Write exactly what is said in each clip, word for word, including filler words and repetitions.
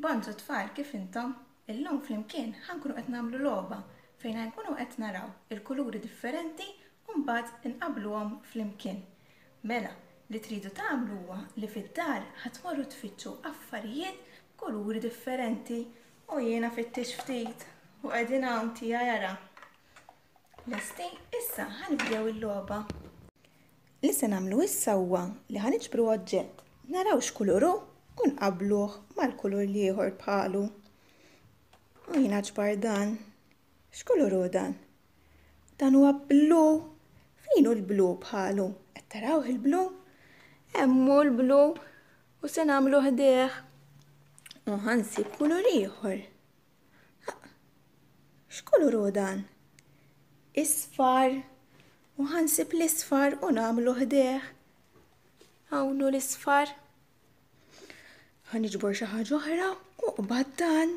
Bonġu tfal, kif intom? Illum flimkien ħa nkunu qed nagħmlu logħba fejn ħa nkunu qed naraw il-kuluri differenti u mbagħad inqabbluhom flimkien. Mela, li tridu tagħmlu huwa li fid-dar ħa tmorru tfittxu affarijiet b'kuluri differenti u jiena fittix ftit u qegħdin hawn tiegħi ara. Lesti, issa ħa nibdew il-logħba. Li se nagħmlu issa huwa li ħa niġbru oġġett, naraw x'kulur hu u nqabbluh mal-kulur l-ieħor bħalu. U jiena ġbar dan. X'kulur hu dan? Dan huwa blu. Fejn hu l-blu bħalu? Qed tarawh il-blu? Hemm hu l-blu u se nagħmlu ħdejh. U ħa nsib kulur ieħor. X'kulur hu dan? Isfar. U ħa nsib l-isfar u nagħmlu ħdejh. Hawn hu l-isfar. Ħa niġbor xi ħaġa oħra u qbad dan.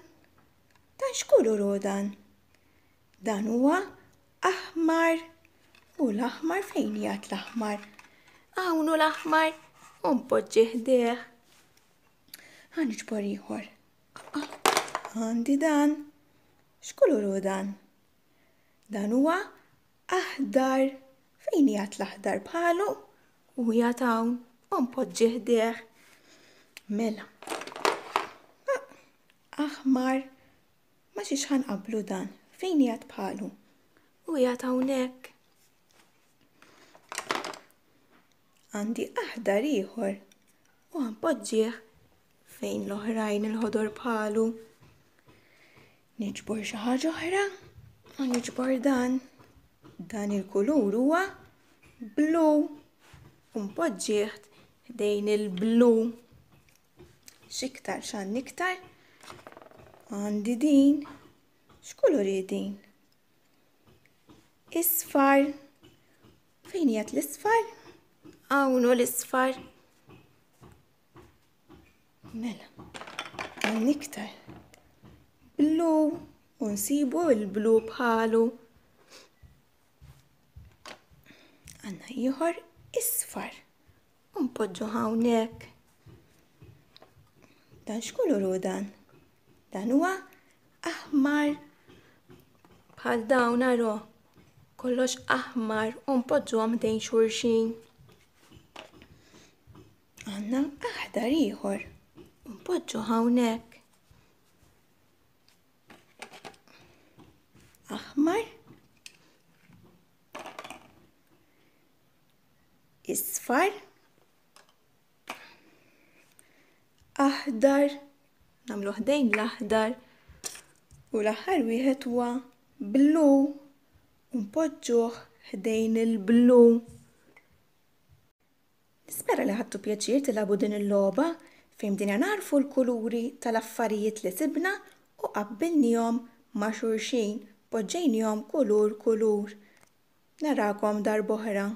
Dan x'kulur hu dan? Dan huwa aħmar. U l-aħmar fejn qiegħed l-aħmar? Hawn hu l-aħmar u npoġġi ħdejh. Ħa niġbor ieħor. Għandi dan. X'kulur hu dan? Dan huwa aħdar. Fejn qiegħed l-aħdar bħalu? U qiegħed hawn u npoġġi ħdejh. Mela. Aħmar. Ma xiex ħa nqabblu dan. Fejn qiegħed bħalu? U qiegħed hawnhekk. Għandi aħdar ieħor u ħa npoġġih fejn l-oħrajn il-ħodor bħalu. Niġbor xi ħaġa oħra u niġbor dan. Dan il-kulur huwa blu u npoġġih ħdejn il-blu. X'iktar x'għandi iktar? Għandi din. X'kulur hi din? Isfar. Fejn qiegħed l-isfar? Hawn hu l-isfar. Mela, hawn iktar. Blu u nsibu l-blu bħalu. Għandna ieħor isfar. U npoġġu hawnhekk. Dan x'kulur hu dan? Dan huwa aħmar. Bħal dawn aro. Kollox aħmar u npoġġuhom ħdejn xulxin. Għandna aħdar ieħor u npoġġu hawnhekk. Aħmar. Isfar. Aħdar. Nagħmlu ħdejn l-aħdar. U l-aħħar wieħed huwa blu. U npoġġuh ħdejn il-blu. Nispera li ħadtu pjaċir tilagħbu din il-logħba fejn bdejna nagħrfu l-kuluri tal-affarijiet li sibna u qabbilnihom ma' xulxin, poġġejnihom kulur kulur. Narakom darb'oħra.